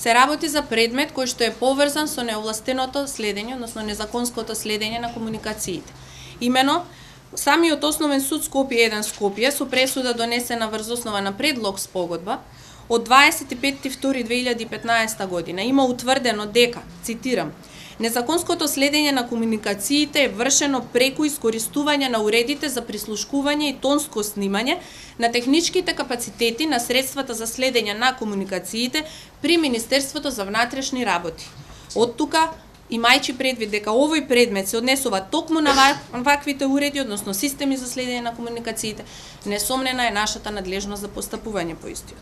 се работи за предмет кој што е поврзан со неовластеното следење, односно незаконското следење на комуникациите. Имено, самиот Основен суд Скопје 1 Скопје со пресуда донесена врз основа на предлог спогодба од 25.2.2015 година има утврдено дека, цитирам, незаконското следење на комуникациите е вршено преку искористување на уредите за прислушкување и тонско снимање на техничките капацитети на средствата за следење на комуникациите при Министерството за внатрешни работи. Од тука, имајќи предвид дека овој предмет се однесува токму на ваквите уреди, односно системи за следење на комуникациите, несомнена е нашата надлежност за постапување по истиот.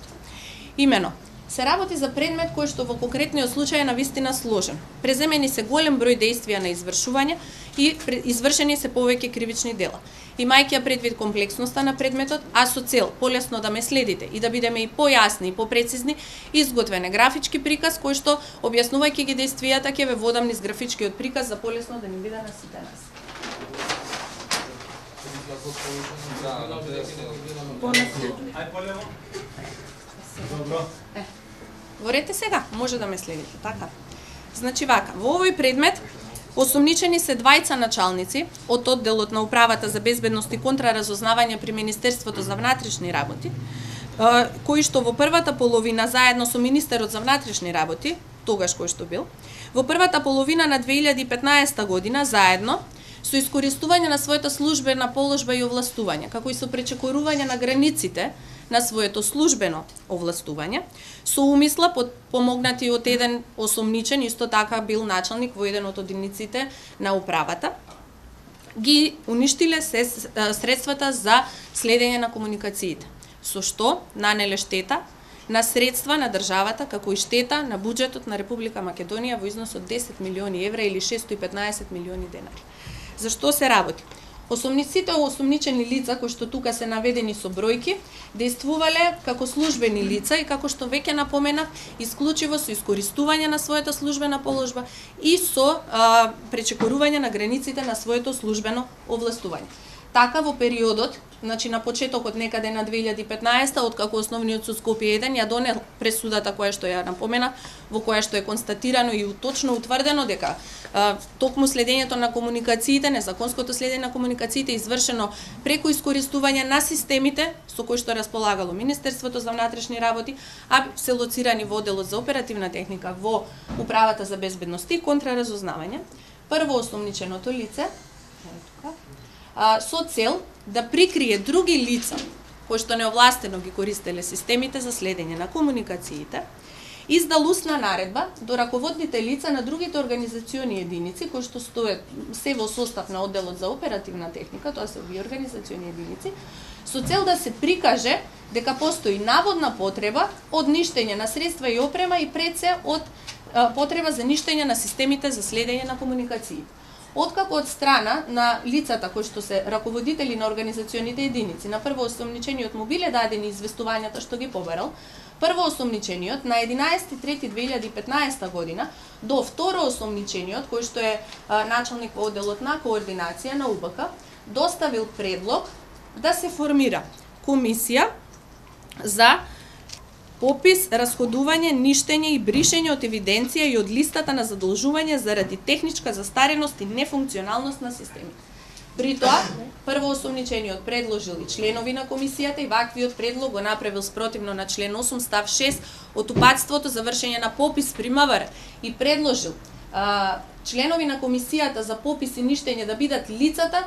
Имено, се работи за предмет кој што во конкретниот случај е навистина сложен. Преземени се голем број дејствија на извршување и извршени се повеќе кривични дела. Имајќи предвид комплексноста на предметот, а со цел полесно да ме следите и да бидеме и појасни и попрецизни, изготвен е графички приказ кој што објаснувајќи ги дејствијата ќе ве водам низ графичкиот приказ за полесно да ни биде на сите нас. Говорете сега, може да ме следите, така. Значи вака, во овој предмет осомничени се двајца началници од одделот на Управата за безбедност и контраразузнавање при Министерството за внатрешни работи, кои што во првата половина заедно со Министерот за внатрешни работи, тогаш кој што бил, во првата половина на 2015 година заедно со искористување на својата службена положба и овластување, како и со пречекорување на границите на своето службено овластување, со умисла помогнати од еден осомничен, исто така бил началник во еден од одиниците на управата, ги уништиле се средствата за следење на комуникациите, со што нанеле штета на средства на државата, како и штета на буџетот на Република Македонија во износ од 10 милиони евра или 615 милиони денари. За што се работи? Осомниците осомничени лица, кои што тука се наведени со бројки, действувале како службени лица и како што веќе напоменав, исклучиво со искористување на својата службена положба и со пречекорување на границите на своето службено овластување. Така во периодот, значи на почетокот некаде на 2015, откако Основниот суд Скопје 1 ја донел пресудата која што ја напомена, во која што е констатирано и точно утврдено дека токму следењето на комуникациите, незаконското следење на комуникациите извршено преку искористување на системите со кои што располагало Министерството за внатрешни работи, а се лоцирани во одделот за оперативна техника во Управата за безбедност и контраразузнавање, прво осомниченото лице, со цел да прикрие други лица кои што неовластено ги користеле системите за следење на комуникациите, издал устна наредба до раководните лица на другите организациони единици кои што стоят се во состав на одделот за оперативна техника, тоа се овие организациони единици, со цел да се прикаже дека постои наводна потреба од ништење на средства и опрема и пред се од потреба за ништење на системите за следење на комуникациите. Откако од страна на лицата кои што се раководители на организационите единици, на прво осомничениот му биле дадени известувањата што ги побарал, прво осомничениот на 11.3.2015 година до второ осомничениот, кој што е началник во одделот на координација на УБК, доставил предлог да се формира комисија за попис, расходување, ништење и бришење од евиденција и од листата на задолжување заради техничка застареност и нефункционалност на системите. При тоа, прво осомничениот предложил и членови на комисијата и ваквиот предлог го направил спротивно на член 8 став 6 од упатството за вршење на попис при МВР и предложил членови на комисијата за попис и ништење да бидат лицата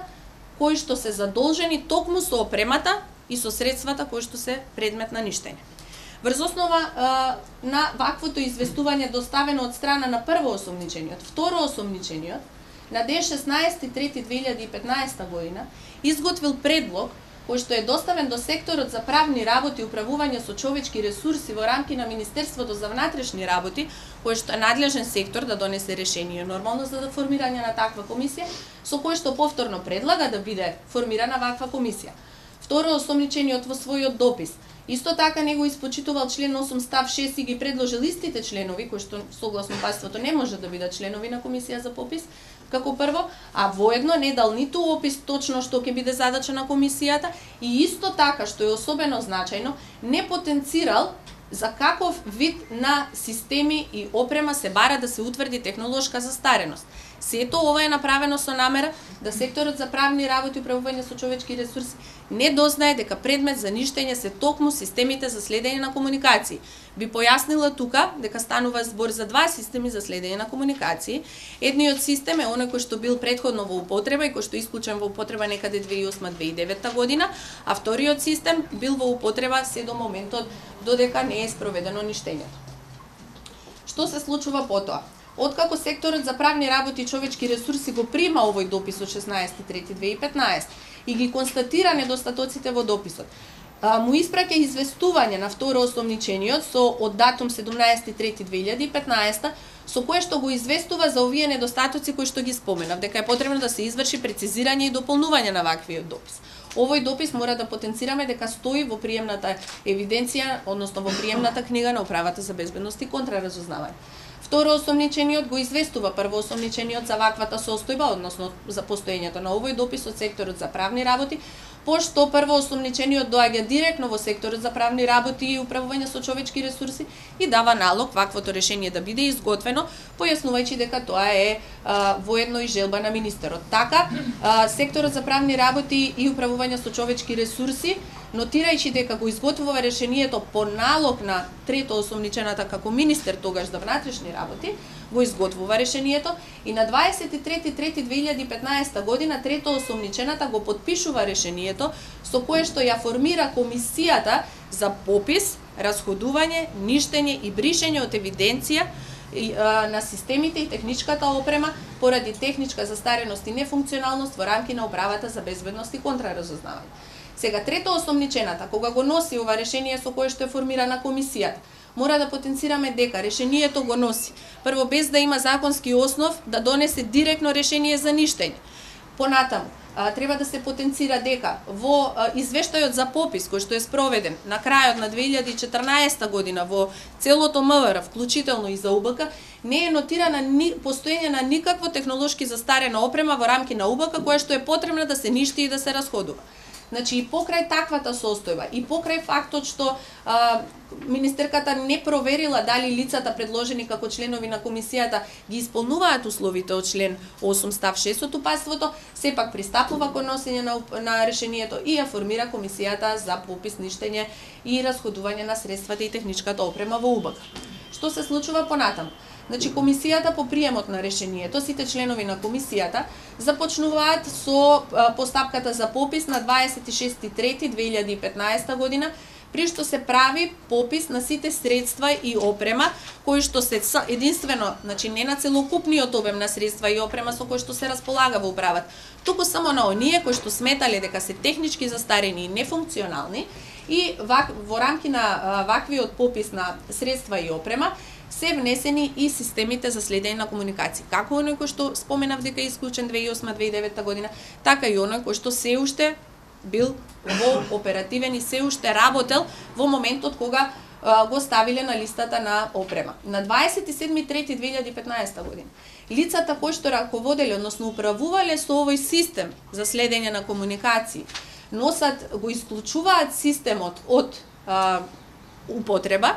кои што се задолжени токму со опремата и со средствата кои што се предмет на ништење. Врз основа на ваквото известување доставено од страна на прво осомничениот, второ осомничениот, на ден 16.3.2015 година изготвил предлог кој што е доставен до секторот за правни работи и управување со човечки ресурси во рамки на Министерството за внатрешни работи, кој што е надлежен сектор да донесе решение нормално за формирање на таква комисија, со кој што повторно предлага да биде формирана ваква комисија. Второ осомничениот во својот допис исто така него испочитувал член 8 став 6 и ги предложил истите членови кои што согласно паството не може да бидат членови на комисија за попис, како прво, а воедно не дал ниту опис точно што ќе биде задача на комисијата и исто така што е особено значајно, не потенцирал за каков вид на системи и опрема се бара да се утврди технолошка застареност. Сето ова е направено со намера да секторот за правни работи и управување со човечки ресурси не дознае дека предмет за ништење се токму системите за следење на комуникации. Би појаснила тука дека станува збор за два системи за следење на комуникации. Едниот систем е оној кој што бил претходно во употреба и кој што исклучен во употреба некаде 2008-2009 година, а вториот систем бил во употреба се до моментот додека не е спроведено ништењето. Што се случува потоа? Откако секторот за правни работи и човечки ресурси го прима овој допис од 16.3.2015 и ги констатира недостатоците во дописот, му испраќа известување на второ осомничениот од датум 17.3.2015 со кое што го известува за овие недостатоци кои што ги споменав, дека е потребно да се изврши прецизирање и дополнување на ваквиот допис. Овој допис мора да потенцираме дека стои во приемната евиденција, односно во приемната книга на Управата за безбедност и контраразузнавање. Второ осомничениот го известува прво осомничениот за ваквата состојба, односно за постоењето на овој допис од секторот за правни работи, пошто прво осомничениот доаѓа директно во секторот за правни работи и управување со човечки ресурси и дава налог ваквото решение да биде изготвено, појаснувајќи дека тоа е воедно и желба на министерот. Така, секторот за правни работи и управување со човечки ресурси, нотирајќи дека го изготвува решението по налог на трето осомничената како министер тогаш за внатрешни работи, го изготвува решението и на 23.3.2015 година трето осомничената го подпишува решението со кое што ја формира комисијата за попис, расходување, ништење и бришење од евиденција на системите и техничката опрема поради техничка застареност и нефункционалност во рамки на Управата за безбедност и контраразузнавање. Сега, трето осомничената, кога го носи ова решение со кое што е формирана комисијата, мора да потенцираме дека решението го носи, прво без да има законски основ да донесе директно решение за ништење. Понатаму, треба да се потенцира дека во извештајот за попис кој што е спроведен на крајот на 2014 година во целото МВР, вклучително и за УБК, не е нотирана постоење на никакво технолошки застарена опрема во рамки на УБК која што е потребна да се ништи и да се расходува. Значи, и покрај таквата состојба, и покрај фактот што министерката не проверила дали лицата предложени како членови на комисијата ги исполнуваат условите од член 8 став 6 од упатството, сепак пристапува кон носење на решението и ја формира комисијата за попис, ништење и расходување на средствата и техничката опрема во УБК. Што се случува понатаму? Значи, комисијата по приемот на решението, сите членови на комисијата започнуваат со постапката за попис на 26.3.2015 година, при што се прави попис на сите средства и опрема кои што се единствено, значи не на целокупниот обем на средства и опрема со кои што се располага во управата, туку само на оние кои што сметале дека се технички застарени и нефункционални и во рамки на ваквиот попис на средства и опрема се внесени и системите за следење на комуникации. Како оној кој што споменав дека е исклучен 2008-2009 година, така и оној кој што се уште бил во оперативен и се уште работел во моментот кога го ставиле на листата на опрема. На 27.3.2015 година лицата кои што раководеле, односно управувале со овој систем за следење на комуникации, го исклучуваат системот од употреба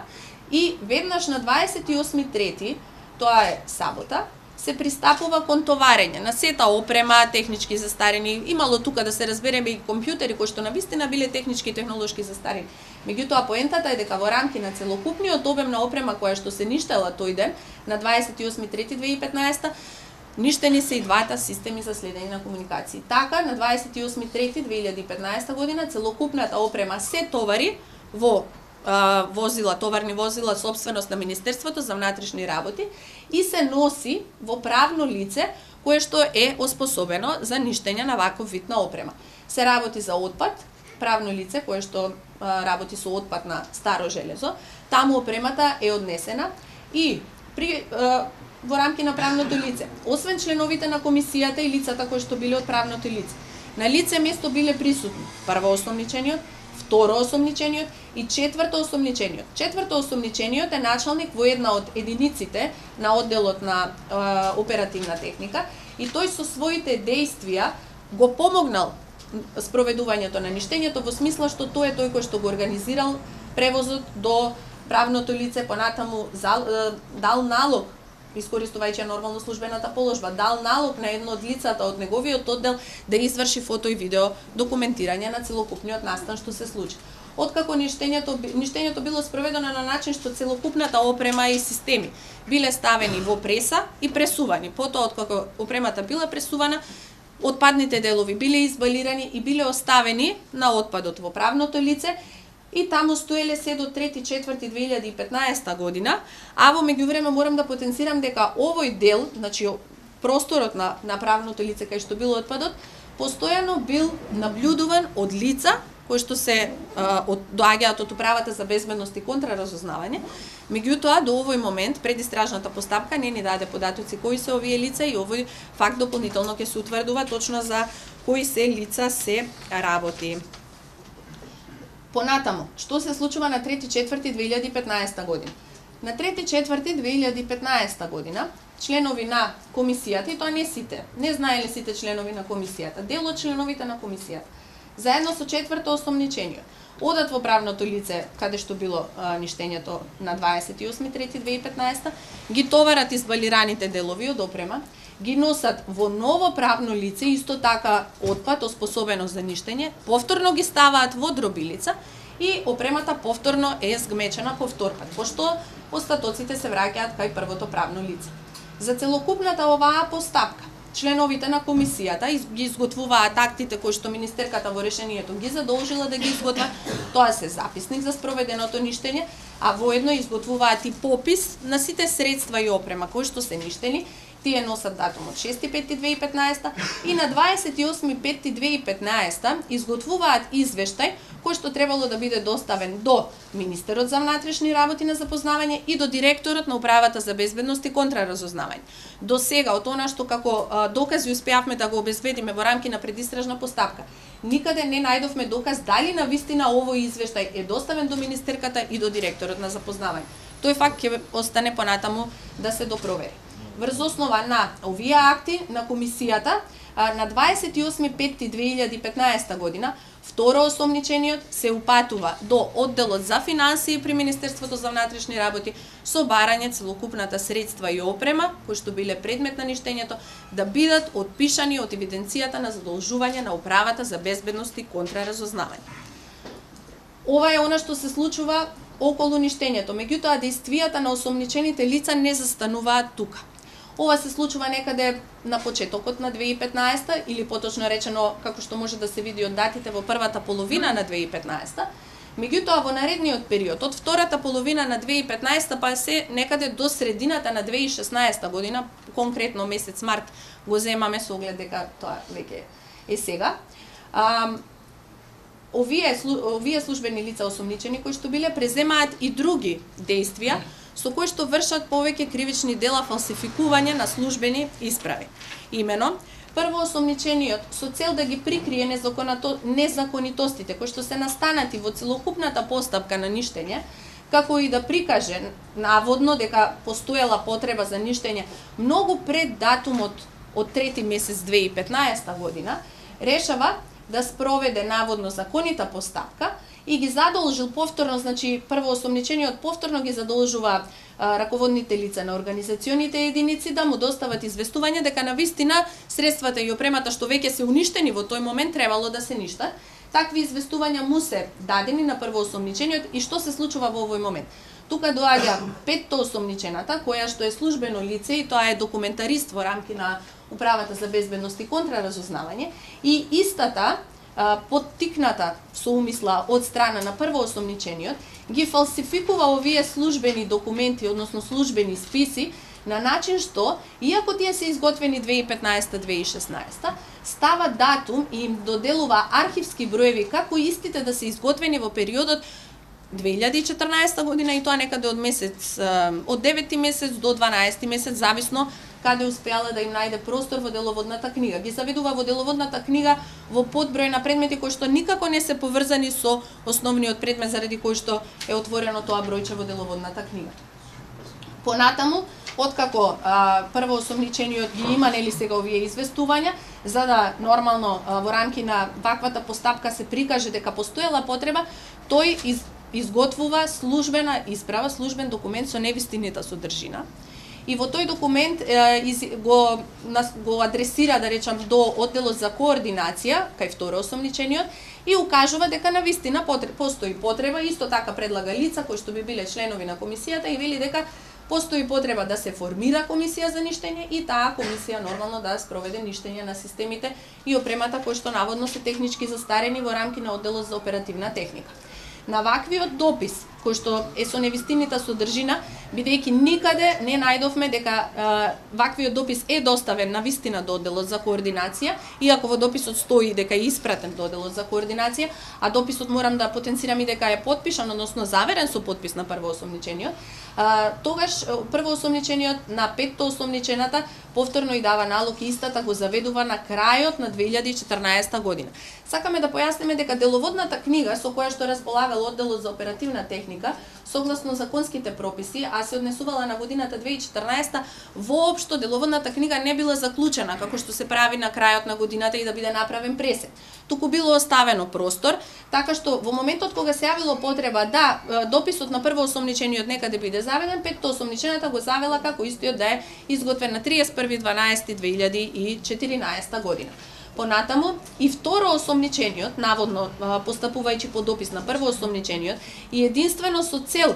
и веднаш на 28.3, тоа е сабота, се пристапува кон товарење на сета опрема, технички застарени, имало тука да се разбереме и компјутери кои што навистина биле технички и технолошки застарени. Меѓутоа поентата е дека во рамки на целокупниот обем на опрема која што се ништела тој ден на 28.3.2015 ништени се и двата системи за следење на комуникации. Така на 28.3.2015 година целокупната опрема се товари во товарни возила сопственост на Министерството за внатрешни работи и се носи во правно лице кое што е оспособено за ништење на ваков вид на опрема. Се работи за отпад, правно лице кое што работи со отпад на старо железо, таму опремата е однесена и во рамки на правното лице, освен членовите на комисијата и лицата кои што биле од правното лице, на лице место биле присутни прво осомничениот, второ осомничениот и четврто осомничениот. Четврто осомничениот е началник во една од единиците на одделот на оперативна техника и тој со своите дејствија го помогнал спроведувањето на ништењето во смисла што тој е тој кој што го организирал превозот до правното лице понатаму дал налог, искористувајќи нормално службената положба, дал налог на едно од лицата од неговиот оддел да изврши фото и видео документирање на целокупниот настан што се случи. Откако ништењето било спроведено на начин што целокупната опрема и системи биле ставени во преса и пресувани. Потоа, откако опремата била пресувана, отпадните делови биле избалирани и биле оставени на отпадот во правното лице и таму стоеле се до 3.4.2015 година, а во меѓувреме морам да потенцирам дека овој дел, значи просторот на правното лице кај што бил отпадот, постојано бил наблюдуван од лица кои што се доаѓаат од Управата за безбедност и контраразузнавање. Меѓутоа, до овој момент, предистражната постапка не ни даде податоци кои се овие лица и овој факт дополнително ќе се утврдува точно за кои се лица се работи. Понатаму, што се случува на 3.4.2015 година? На 3.4.2015 година, членови на комисијата, и тоа не сите, не знаеле сите членови на комисијата, дел од членовите на комисијата, заедно со четврто осомничение, одат во правното лице, каде што било ништењето на 28.3.2015, ги товарат избалираните делови од опрема, ги носат во ново правно лице, исто така отпад, оспособено за ништење, повторно ги ставаат во дробилица и опремата повторно е згмечена повторпат, пошто остатоците се враќаат кај првото правно лице. За целокупната оваа постапка, членовите на комисијата ги изготвуваат актите кои што министерката во решението ги задолжила да ги изготват. Тоа се записник за спроведеното ништење, а воедно изготвуваат и попис на сите средства и опрема кои што се ништени. Тие носат датум од 6.5.2015 и на 28.5.2015 изготвуваат извештај кој што требало да биде доставен до министерот за внатрешни работи на запознавање и до директорот на Управата за безбедност и контраразузнавање. До сега, од она што како докази успеавме да го обезбедиме во рамки на предистражна постапка, никаде не најдовме доказ дали на вистина овој извештај е доставен до министерката и до директорот на запознавање. Тој факт ќе остане понатаму да се допровери. Врз основа на овие акти на комисијата, на 28.5.2015 година, второ осомничениот се упатува до одделот за финансии при Министерството за внатрешни работи со барање целокупната средства и опрема, кои што биле предмет на ништењето, да бидат отпишани од евиденцијата на задолжување на Управата за безбедност и контраразузнавање. Ова е она што се случува околу ништењето, меѓутоа действијата на осомничените лица не застануваат тука. Ова се случува некаде на почетокот на 2015 или поточно речено, како што може да се види од датите, во првата половина на 2015. Меѓутоа во наредниот период, од втората половина на 2015 па се некаде до средината на 2016 година, конкретно месец март го земаме со оглед дека тоа веќе е сега. Овие службени лица осомничени кои што биле преземаат и други действија со кои што вршат повеќе кривични дела фалсификување на службени исправи. Имено, прво осомничениот со цел да ги прикрие незаконитостите кои што се настанати во целокупната постапка на ништење, како и да прикаже наводно дека постоела потреба за ништење многу пред датумот од 3 месец 2015 година, решава да спроведе наводно законита постапка и ги задолжил повторно, значи прво осомничениот повторно ги задолжува раководните лица на организационите единици да му достават известување дека навистина средствата и опремата што веќе се уништени во тој момент требало да се ништат. Такви известувања му се дадени на прво осомничениот и што се случува во овој момент. Тука доаѓа петто осомничената, која што е службено лице и тоа е документарист во рамки на Управата за безбедност и контраразузнавање и истата поттикната со умисла од страна на прво осомничениот, ги фалсификува овие службени документи, односно службени списи, на начин што, иако тие се изготвени 2015-2016, става датум и им доделува архивски броеви како истите да се изготвени во периодот 2014 година и тоа некаде од 9 месец до 12 месец, зависно каде успеала да им најде простор во деловодната книга. Ги заведува во деловодната книга во подброј на предмети кои што никако не се поврзани со основниот предмет заради кој што е отворено тоа бројче во деловодната книга. Понатаму, откако прво осомничениот ги има нели сега овие известувања, за да нормално во рамки на ваквата постапка се прикаже дека постоела потреба, тој изготвува службена исправа, службен документ со невистинита содржина. И во тој документ го адресира, да речам, до одделот за координација, кај второ осомничениот, и укажува дека навистина постои потреба, исто така предлага лица кои што би биле членови на комисијата и вели дека постои потреба да се формира комисија за ништење и таа комисија нормално да спроведе ништење на системите и опремата кои што наводно се технички застарени во рамки на одделот за оперативна техника. На ваквиот допис, кој што е со невистинита содржина, бидејќи никаде не најдовме дека ваквиот допис е доставен на вистина до одделот за координација, иако во дописот стои дека е испратен до одделот за координација, а дописот морам да потенцирам и дека е потпишан, односно заверен со потпис на првоосомничениот, тогаш првоосомничениот на петто осомничената повторно и дава налог и истата го заведува на крајот на 2014 година. Сакаме да појасниме дека деловодната книга со која што располагал одделот за оперативна техника, согласно законските прописи, а се однесувала на годината 2014, воопшто деловодната книга не била заклучена, како што се прави на крајот на годината и да биде направен пресек. Туку било оставено простор, така што во моментот кога се јавило потреба да дописот на првоосомничениот некаде биде заведен, петто осомничената го завела како истиот да е изготвен на 31.12.2014 година. Понатаму и второ осомничениот, наводно постапувајќи по допис на првоосомничениот и единствено со цел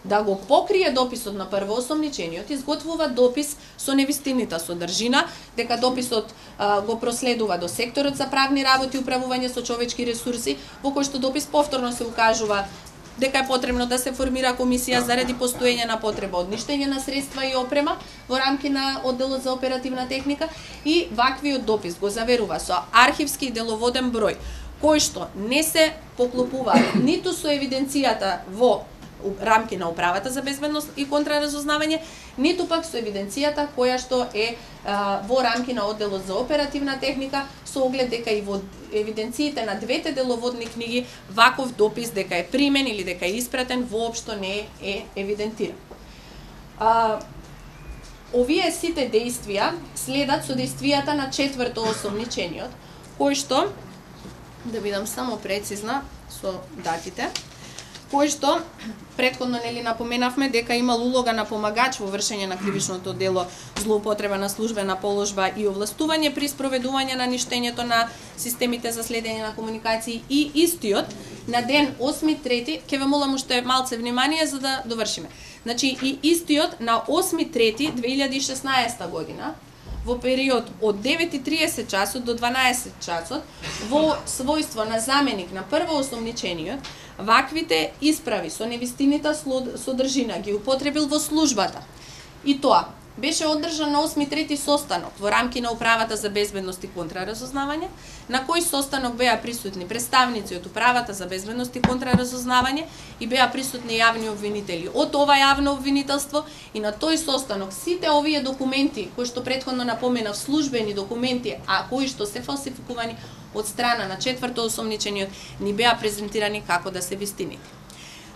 да го покрие дописот на првоосомничениот, изготвува допис со невистинита содржина, дека дописот го проследува до секторот за правни работи и управување со човечки ресурси, во кој што допис повторно се укажува дека е потребно да се формира комисија заради постоење на потреба од ништење на средства и опрема во рамки на одделот за оперативна техника и ваквиот допис го заверува со архивски и деловоден број, кој што не се поклопува ниту со евиденцијата во рамки на управата за безбедност и контраразузнавање, ниту пак со евиденцијата која што е во рамки на одделот за оперативна техника, со оглед дека и во евиденциите на двете деловодни книги ваков допис дека е примен или дека е испратен воопшто не е евидентиран. Овие сите дејствија следат со дејствијата на четврто осомничениот, кој што, да бидам само прецизна со датите, кој што претходно нели напоменавме дека имал улога на помагач во вршење на кривичното дело злоупотреба на службена положба и овластување при спроведување на ништењето на системите за следење на комуникации и истиот на ден 8.3, ќе ве молам уште малце внимание за да довршиме. Значи и истиот на 8.3.2016 година во период од 9:30 часот до 12 часот во својство на заменик на првоосомничениот ваквите исправи со невистинита содржина ги употребил во службата. И тоа беше одржан на 8.3 состанок во рамки на управата за безбедност и контраразузнавање, на кој состанок беа присутни представници од управата за безбедност и контраразузнавање и беа присутни јавни обвинители од ова јавно обвинителство и на тој состанок сите овие документи кои што претходно напоменав службени документи, а кои што се фалсификувани од страна на четврто осомничениот ни беа презентирани како да се вистините.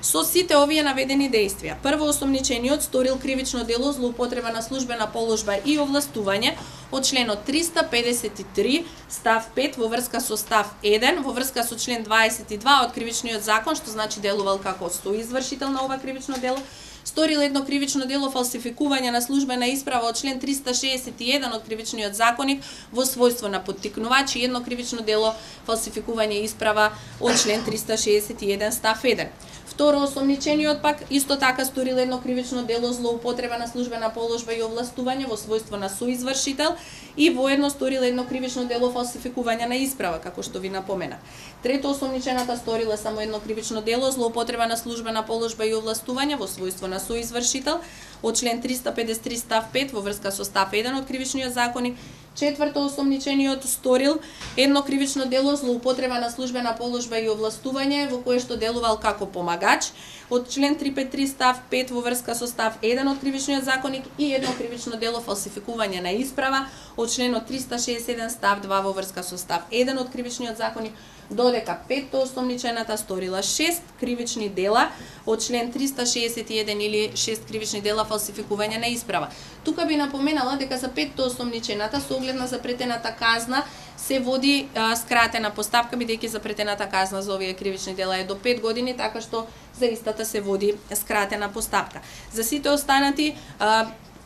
Со сите овие наведени дејствија, првоосомничениот сторил кривично дело злоупотреба на службена положба и овластување од членот 353 став 5 во врска со став 1, во врска со член 22 од кривичниот закон, што значи делувал како соизвршител на ова кривично дело, сторил едно кривично дело фалсификување на службена исправа од член 361 од кривичниот законник во својство на поттикнувач и едно кривично дело фалсификување исправа од член 361 став 1. Второ осомничениот пак исто така сторил едно кривично дело злоупотреба на службена положба и овластување во својство на соизвршител и воедно сторил едно кривично дело фалсификување на исправа, како што ви напомена. Трето осомничената сторила само едно кривично дело злоупотреба на службена положба и овластување во својство на соизвршител од член 353 став 5 во врска со став 1 од кривичниот законник. Четврто осомничениот сторил едно кривично дело злоупотреба на службена положба и овластување во кое што делувал како помагач од член 353 став 5 во врска со став 1 од кривичниот законник и едно кривично дело фалсификување на исправа од членот 367 став 2 во врска со став 1 од кривичниот законник додека петтоосомничената сторила 6 кривични дела од член 361 или 6 кривични дела фалсификување на исправа. Тука би напоменала дека за петтоосомничената со оглед на запретената казна се води скратена постапка, бидејќи запретената казна за овие кривични дела е до 5 години, така што за истата се води скратена постапка. За сите останати,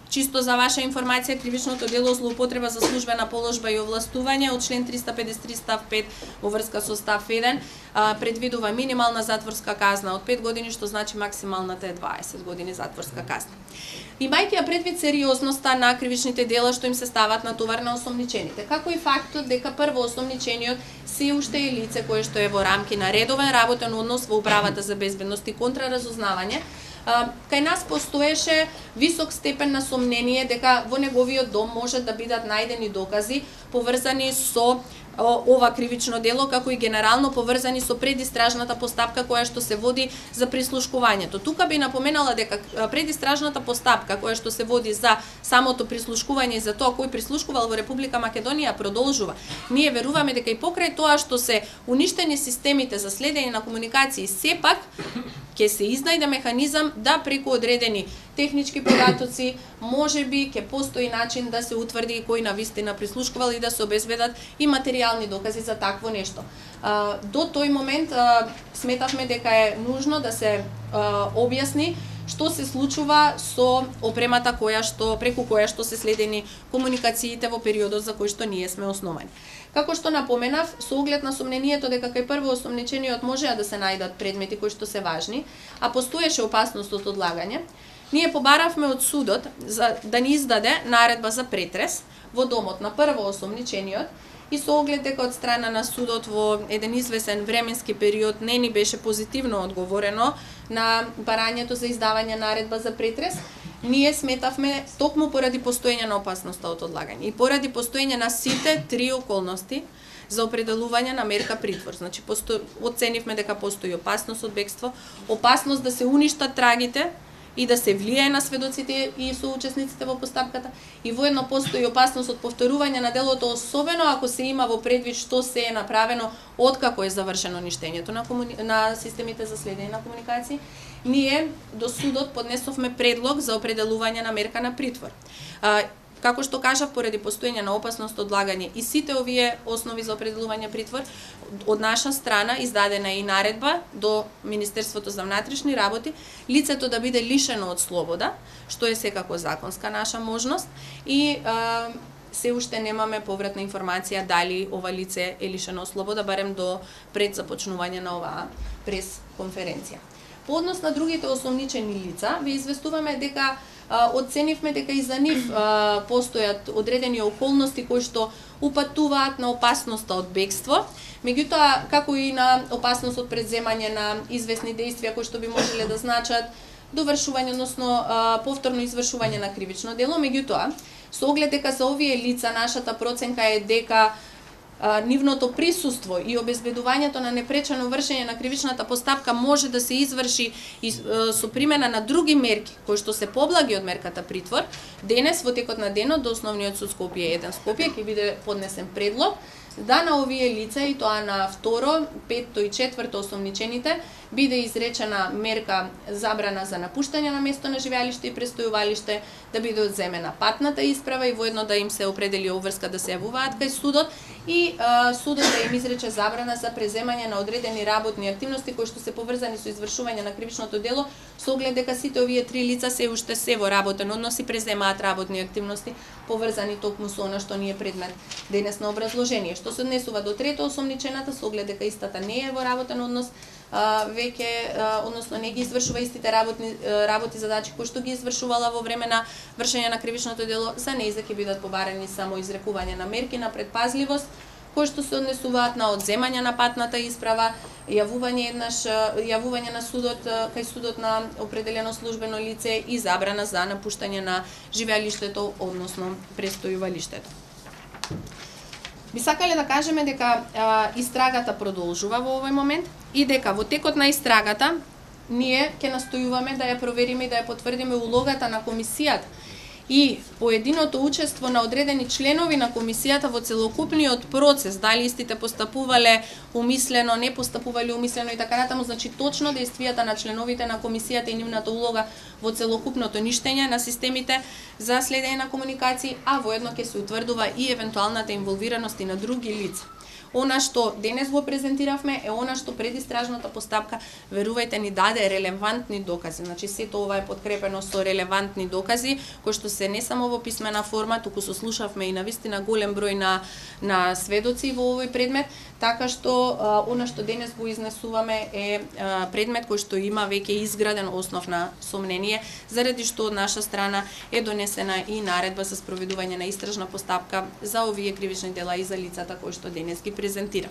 чисто за ваша информација, кривичното дело злоупотреба за службена положба и овластување од член 353 став 5 во врска со став 1 предвидува минимална затворска казна од 5 години, што значи максималната е 20 години затворска казна. Имајќи ја предвид сериозноста на кривичните дела што им се стават на товар на осомничените, како и фактот дека прво осомничениот се уште е лице кое што е во рамки на редовен работен однос во управата за безбедност и контраразузнавање, кај нас постоеше висок степен на сомнение дека во неговиот дом можат да бидат најдени докази поврзани со ова кривично дело, како и генерално поврзани со предистражната постапка која што се води за прислушкувањето. Тука би напоменала дека предистражната постапка која што се води за самото прислушкување и за тоа кој прислушкувал во Република Македонија продолжува. Ние веруваме дека и покрај тоа што се уништени системите за следење на комуникации, сепак ќе се изнајде механизам да преку одредени технички податоци можеби ќе постои начин да се утврди кој навистина прислушкувал и да се обезбедат и материјални докази за такво нешто. До тој момент сметавме дека е нужно да се објасни што се случува со опремата преку која што се следени комуникациите во периодот за кој што ние сме основани. Како што напоменав, со оглед на сомнението дека кај прво осомничениот можеа да се најдат предмети кои што се важни, а постоеше опасност од одлагање, ние побаравме од судот да ни издаде наредба за претрес во домот на прво осомничениот и со оглед дека од страна на судот во еден извесен временски период не ни беше позитивно одговорено на барањето за издавање наредба за претрес, ние сметавме токму поради постоење на опасноста од одлагање и поради постоење на сите три околности за определување на мерка притвор. Значи, оценивме дека постои опасност од бегство, опасност да се уништат трагите и да се влијае на сведоците и соучесниците во постапката, и воедно постои опасност од повторување на делото, особено ако се има во предвид што се е направено откако е завршено ништењето на системите за следење на комуникации. Ние до судот поднесовме предлог за определување на мерка на притвор. Како што кажав, поради постоење на опасност од одлагање и сите овие основи за определување притвор, од наша страна издадена и наредба до Министерството за внатрешни работи, лицето да биде лишено од слобода, што е секако законска наша можност, и се уште немаме повратна информација дали ова лице е лишено од слобода, барем до пред започнување на оваа прес-конференција. По однос на другите осомничени лица, ви известуваме дека оценивме дека и за нив постојат одредени околности кои што упатуваат на опасноста од бегство, меѓутоа како и на опасност од преземање на известни действија кои што би можеле да значат довршување, односно повторно извршување на кривично дело, меѓутоа со оглед дека за овие лица нашата проценка е дека нивното присуство и обезбедувањето на непречено вршење на кривичната постапка може да се изврши и со примена на други мерки кои што се поблаги од мерката притвор. Денес во текот на денот до Основниот суд Скопје 1 Скопје ќе биде поднесен предлог да на овие лица, и тоа на второ, петто и четврто осомничените, биде изречена мерка забрана за напуштање на место на живеалиште и престојувалиште, да биде одземена патната исправа и воедно да им се определи обврска да се јавуваат кај судот, и судот да им изрече забрана за преземање на одредени работни активности кои што се поврзани со извршување на кривичното дело, со оглед дека сите овие три лица се уште се во работен однос и преземаат работни активности поврзани токму со она што ни е предмет денес на образложение. Што се однесува до трето осомничената, со оглед дека истата не е во работен однос, веќе, односно не ги извршува истите работи задачи кои што ги извршувала во време на вршење на кривичното дело, за нејза ќе бидат побарани само изрекување на мерки на предпазливост, кои што се однесуваат на одземање на патната исправа, јавување на судот кај судот на определено службено лице и забрана за напуштање на живеалиштето, односно престојувалиштето. Би сакале да кажеме дека истрагата продолжува во овој момент и дека во текот на истрагата ние ќе настојуваме да ја провериме и да ја потврдиме улогата на комисијата и поединото учество на одредени членови на комисијата во целокупниот процес, дали истите постапувале умислено, не постапувале умислено и така натаму, значи точно действијата на членовите на комисијата и нивната улога во целокупното ништење на системите за следење на комуникации, а воедно ќе се утврдува и евентуалната инволвираност и на други лица. Она што денес го презентиравме е она што предистражната постапка, верувајте, ни даде релевантни докази. Значи сето ова е подкрепено со релевантни докази, кои што се не само во писмена форма, туку сослушавме и навистина голем број на сведоци во овој предмет, така што она што денес го изнесуваме е предмет кој што има веќе изграден основ на сомнение, заради што од наша страна е донесена и наредба за спроведување на истражна постапка за овие кривични дела и за лицата кои што денес ги презентира.